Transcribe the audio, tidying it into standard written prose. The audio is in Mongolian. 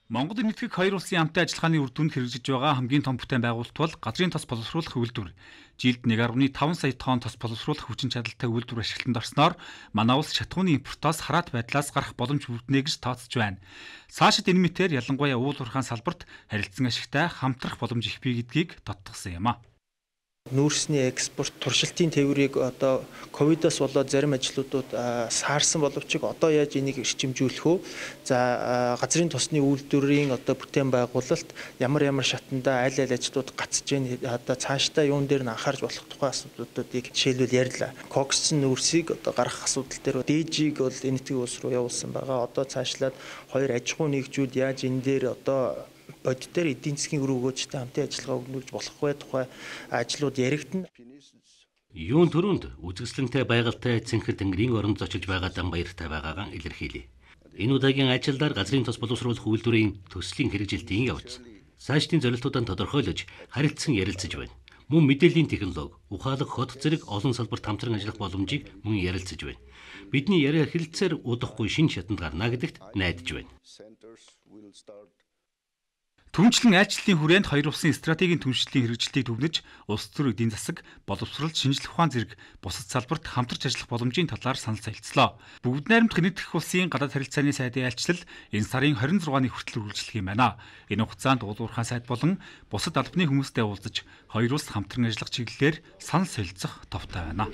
Монгол Энэтхэг хоёр улсын хамтын ажиллагааны үр дүнд хэрэгжиж байгаа хамгийн том бүтээн байгуулалт бол газрын тос боловсруулах үйлдвэр. Жилд 1.5 сая тонн тос боловсруулах хүчин чадалтай үйлдвэр ашиглалтанд орсноор манай улс шатхууны импортоос хараат байдлаас гарах боломж бүрднэ гэж тооцож байна. Цаашид энэ мэтээр ялангуяа уул уурхайн салбарт харилцан ашигтай хамтрах боломж их бий гэдгийг тодтогсон юм а. Нүүрсний экспорт туршилтын тээврийг одоо ковидоос болоод зарим ажлуудад саарсан боловч одоо яаж энийг эрчимжүүлэх вэ? За газрын тосны үйлдвэрийн одоо бүтээн байгуулалт ямар шатанда аль ажлууд гацж байна, одоо цаашдаа юун дээр нь анхаарч болох тухай асуудлуудыг жишээлбэл ярьлаа. Коксцэн нүүрсийг одоо гаргах асуудал дээр дээжийг бол Энэтхэг улс руу явуулсан байгаа. Одоо цаашлаад хоёр аж ахуй нэгжүүд яаж энэ дээр одоо бодит дээр эдийн засгийн үр өгөөжтэй хамтын ажиллагаа өгнүүлж болох вэ тухай ажлууд яригдана. Юун төрөнд үзэсгэлэнтэй байгальтай Цэнхэр тэнгэрийн оронд зочилж байгаа дан баяртай байгаагаа илэрхийлье. Энэ удаагийн ажилдаар газрын тос боловсруулах үйлдвэрийн төслийн хэрэгжилтийн явц. Цаашдын зорилтуудаа тодорхойлож харилцан ярилцаж байна. Мөн мэдээллийн технологи, ухаалаг хот зэрэг олон салбарт хамтран ажиллах боломжийг мөн ярилцаж байна. Бидний яриа хэлэлцээр удахгүй шинэ шатанд гарна гэдэгт найдаж байна. Түнчлэн айлчлалын хүрээнд хоёр улсын стратегийн түншлэлийн хэрэгжилтийг түгнэж, улс төр эдийн засаг, боловсрол, шинжлэх ухаан зэрэг бусад салбарт хамтарч ажиллах боломжийн талаар санал солилцлоо. Бүгд найрамдах Энэтхэг улсын гадаад харилцааны сайдын айлчлал энэ сарын 26-ны хүртэл үргэлжлэх юм байна. Энэ хугацаанд уул уурхайн сайд болон бусад албаны хүмүүстэй уулзаж, хоёр улс хамтран ажиллах чиглэлээр санал солилцох товтой байна.